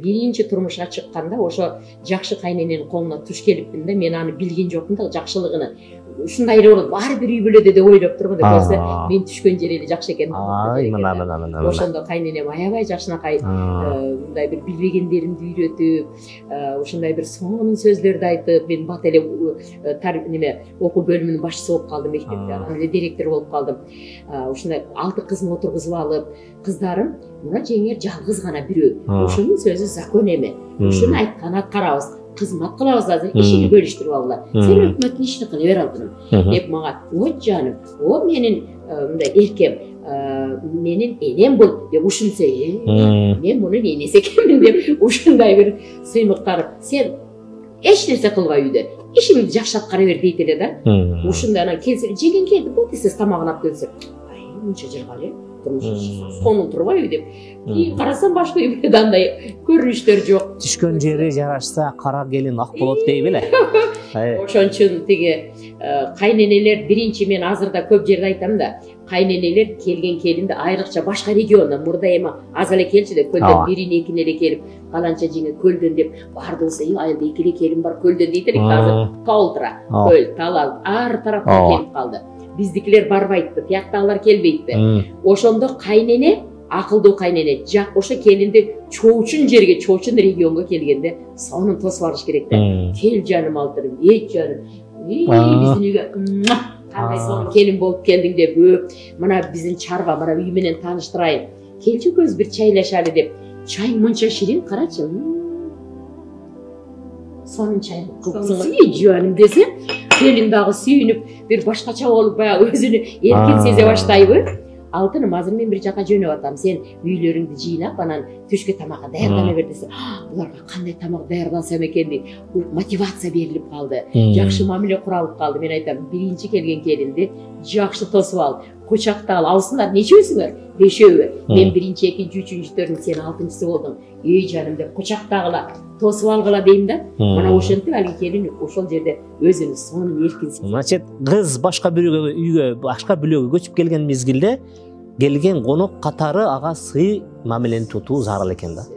Биринчи турмушка чыкканда ошо жакшы кайнененин колуна туш келипмин да, мен аны билген жокмун да жакшылыгын. Ушундай эле болот, баары бир үй бүлөдө деп ойлоп тургум деп көрсө, мен түшкөн жери эле жакшы экен. Мына. Ошондо кайненем аябай жакшынакай мындай бир билбегендеримди үйрөтүп, ушундай бир сонун сөздөрдү айтып, мен бат эле неме окуу бөлүмүнүн башчысы болуп калдым мектепте, анан эле директор болуп калдым. Ушундай 6 кызын отургузуп алып, кыздарым, мына жеңер жалгыз гана бирөө. Ушунун сөзү закон эме. Ушуну айтканын аткарабыз. Кызмат кылабыз азыр, ишини бөлүштүрүп алгыла. Сен өкмөттүн ишин кылып бер алдың деп мага, ой жаным, о менин мындай эркем, менин энем бул деп ушунса, мен мунун энеси экенмин деп ушундай бир сыймыктарып, сен эч нерсе кылбай үйдө, ишиңди жакшы аткара бер дейт эле да. Ушундай анан келсе, жеген келди, бул десе тамагын алып келсе, ай мынча жыргал эле. Сонун турбайбы деп. Карасам башка үй бүлөдө андай көрүнүштөр жок. Түшкөн жери жарашса кара келин ак болот дейби эле. Ошон үчүн тиги кайненелер биринчи, мен азыр да көп жерде айтам да, кайненелер келген келинди айрыкча башка региондон, мурда эми аз эле келчү деп, көлдөн бирин экин эле келип, каланча жеңе көлдөн деп бардылса, айылда 2 эле келин бар көлдөн дейт элек, азыр Толтура, көл, Талал, ар тараптан келип калды. Биздикилер барбайт, тияктагылар келбейт. Ошондо кайнене, акылдуу кайнене, ошо келинди чоочун жерге, чоочун регионго келгенде сонун тосуп алыш керек да. Кел жаным алтыным, жаным. Биздин үйгө кандай сонун келин болуп келдиң деп, мына биздин чарба, мына үй менен тааныштырайын. Келчи көз бир чайлашалы деп. Чай мынча ширин, карачы. Сонун чай кылыпсың, жаным десе, келин дагы сүйүнүп, бир башкача болуп, баягы өзүнү эркин сезе баштайбы? Алтыным, азыр мен бир жака жөнөп атам, сен үйлөрүңдү жыйнап, анан түшкө тамакка даярдана бер десе, буларга кандай тамак даярдансам экен деп мотивация берилип калды. Жакшы мамиле куралып калды. Мен айтам, биринчи келген келинди жакшы тосуп ал, кучактап ал. Алсыңар, нечөөсүңөр? 5-өө. Мен биринчи, экинчи, үчүнчү, төртүнчү, сен 6-чысы болдуң. Жаным деп кучактагыла, тосуп алгыла дейм да. Мына ошентип алги келин ошол жерде өзүнүн сонун эркин. Значит, кыз башка бир үйгө, башка бүлөгө көчүп келген мезгилде келген конок катары ага сый мамилени тутуу зарыл экен да.